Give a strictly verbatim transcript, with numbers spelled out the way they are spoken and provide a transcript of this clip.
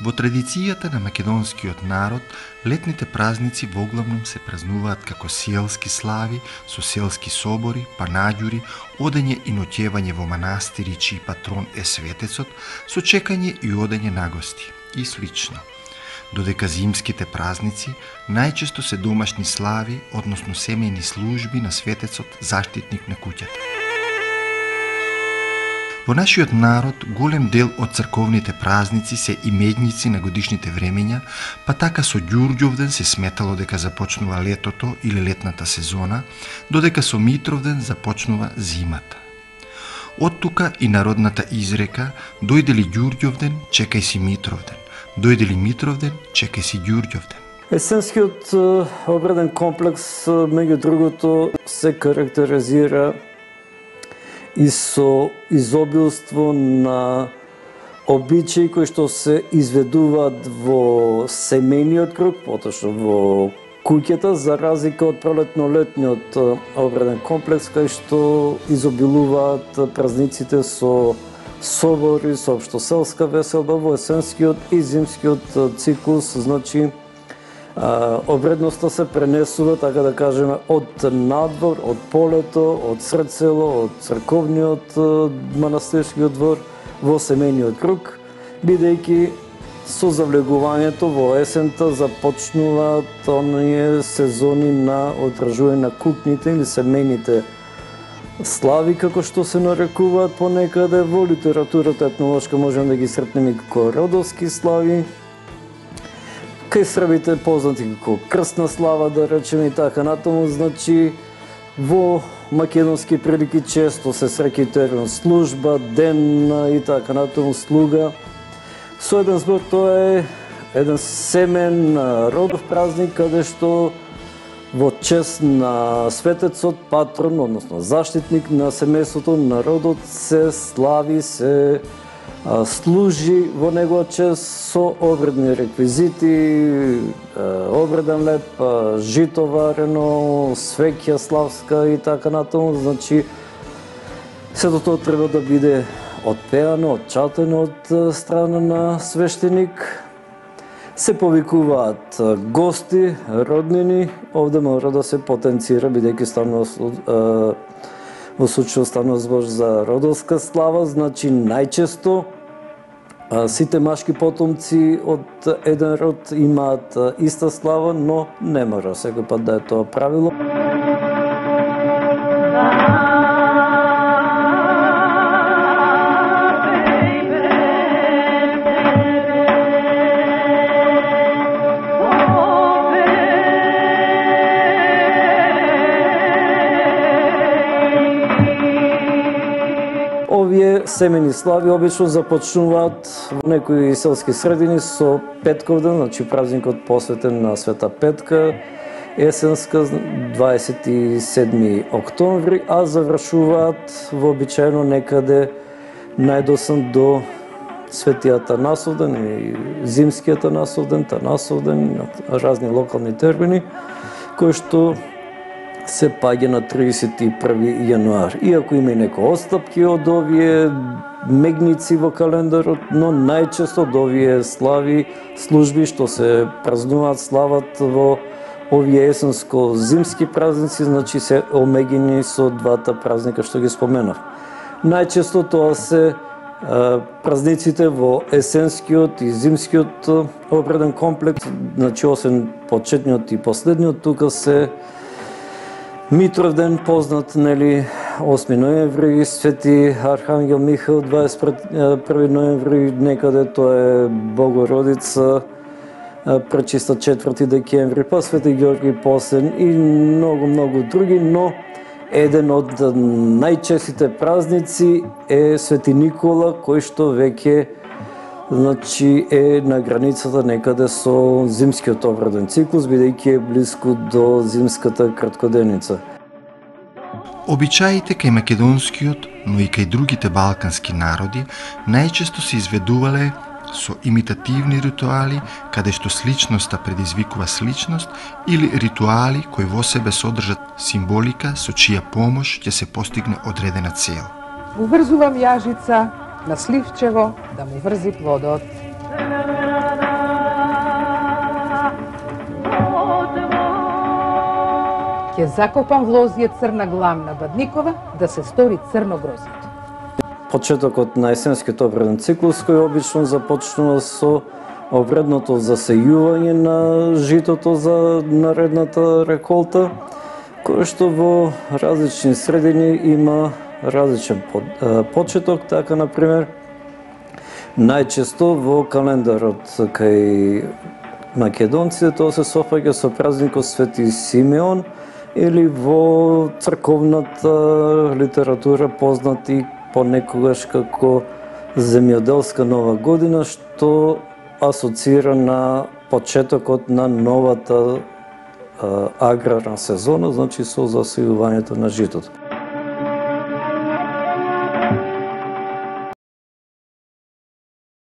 Во традицијата на македонскиот народ, летните празници воглавном се празнуваат како селски слави, со селски собори, панаѓури, одење и ноќевање во манастири чиј патрон е светецот, со чекање и одење на гости и слично. Додека зимските празници најчесто се домашни слави, односно семејни служби на светецот, заштитник на куќата. Во нашиот народ, голем дел од црковните празници се имедници на годишните времења, па така со Ѓурѓовден се сметало дека започнува летото или летната сезона, додека со Митровден започнува зимата. Од тука и народната изрека «Дојде ли Ѓурѓовден, чекај си Митровден. Дојде ли Митровден, чекај си Ѓурѓовден». Есенскиот обреден комплекс, меѓу другото, се карактеризира и со изобилство на обичаи кои што се изведуваат во семејниот круг, поточно во куќата, за разлика од пролетно-летниот обреден комплекс, кај што изобилуваат празниците со собори, со општоселска веселба. Во есенскиот и зимскиот циклус, значи, обредноста се пренесува, така да кажеме, од надвор, од полето, од сред село, од црковниот манастирскиот двор во семејниот круг, бидејќи со завлегувањето во есента започнуваат оние сезони на отражување на кукните или семејните слави, како што се нарекуваат понекаде. Во литературата етнолошка можеме да ги сретнеме како родовски слави, кај србите познати како крстна слава, да речеме, и така натаму. Значи, во македонски прилики често се среќа термин служба, ден и така натаму, слуга. Со еден збор, тоа е еден семен родов празник, каде што во чест на светецот, патрон, односно заштитник на семејството, народот, се слави, се служи во негова чест со обредни реквизити, обреден леп, жито варено, свеќа славска и така натаму. Значи, сето тоа треба да биде отпеано, отчатено од страна на свештеник. Се повикуваат гости, роднини. Овде мора да се потенцира, бидејќи станува во случај станува збор за родовска слава, значи најчесто сите машки потомци од еден род имаат иста слава, но не мора секој пат да е тоа правило. Овие семени слави обично започнуваат во некои селски средини со Петковден, значи празникот посветен на Света Петка, есенска дваесет и седми октомври, а завршуваат вообичаено некаде најдосен до Светиот Атанасовден и Зимскиот Атанасовден, Танасовден, разни локални термини, кои што се паѓа на тридесет и први јануари. Иако има и некои отстапки од овие мегници во календарот, но најчесто од овие слави, служби што се празнуваат, слават во овие есенско-зимски празници, значи се омегени со двата празника што ги споменав. Најчесто тоа се а, празниците во есенскиот и зимскиот обреден комплекс, значи освен почетниот и последниот, тука се Митровден, познат, нели, осми ноември, Свети Архангел Михаил, дваесет и први ноември, некаде тоа е Богородица, пречиста четврти декември, па Свети Ѓорги Посен и многу, многу други, но еден од најчестите празници е Свети Никола, кој што веќе, значи, е на границата некаде со зимскиот обреден циклус, бидејќи е близко до зимската краткоденица. Обичаите кај македонскиот, но и кај другите балкански народи најчесто се изведувале со имитативни ритуали, каде што сличноста предизвикува сличност, или ритуали кои во себе содржат символика со чија помош ќе се постигне одредена цел. Уврзувам јажица на сливчево да му врзи плодот. Ќе закопам в лозија црна главна бадникова да се стори црно грозјето. Почетокот на есенскиот обреден циклус кој обично започнува со обредното засејување на житото за наредната реколта, кој што во различни средини има различен почеток, така например најчесто во календарот кај македонците тоа се софаќа со празникот Свети Симеон или во црковната литература познати понекогаш како земјоделска нова година, што асоцира на почетокот на новата аграрна сезона, значи со засејувањето на житото.